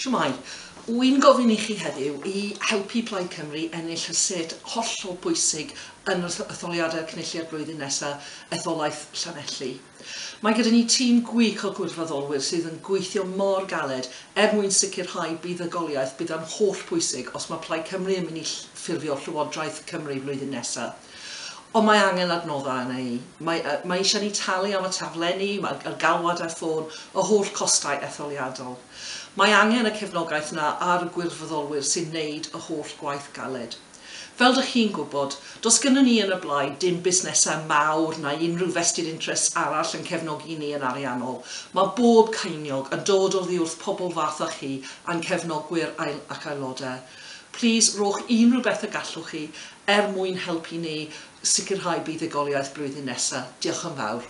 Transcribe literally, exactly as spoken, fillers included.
Shwmae, wy'n gofyn i chi heddiw i helpu Plaid Cymru ennill y sedd hollol bwysig yn yr etholiadau'r Cynulliad blwyddyn nesaf, etholaeth Llanelli. Mae gyda ni tîm gwych o gwirfoddolwyr sydd yn gweithio mor galed er mwyn sicrhau buddugoliaeth bydd yn holl bwysig os mae Plaid Cymru yn mynd i ffurfio Llywodraeth Cymru blwyddyn nesaf. Ond mae angen adnoddau arna i. Mae, uh, mae eisiau ni talu am y taflenni, mae'r galwad ar ffôn, y holl costau etholiadol. Mae angen y cefnogaeth yna ar y gwirfoddolwyr sy'n neud y holl gwaith galed. Fel dych chi'n gwybod, does gynnon ni yn y Blaid dim busnesau mawr na unrhyw vested interests arall yn cefnogi ni yn ariannol. Mae bob ceiniog yn dod oddi wrth pobl fath â chi a'n cefnogwyr ac aelodau. Please, rhowch unrhyw beth y gallwch chi er mwyn helpu ni sicrhau buddugoliaeth blwyddyn nesaf. Diolch yn fawr.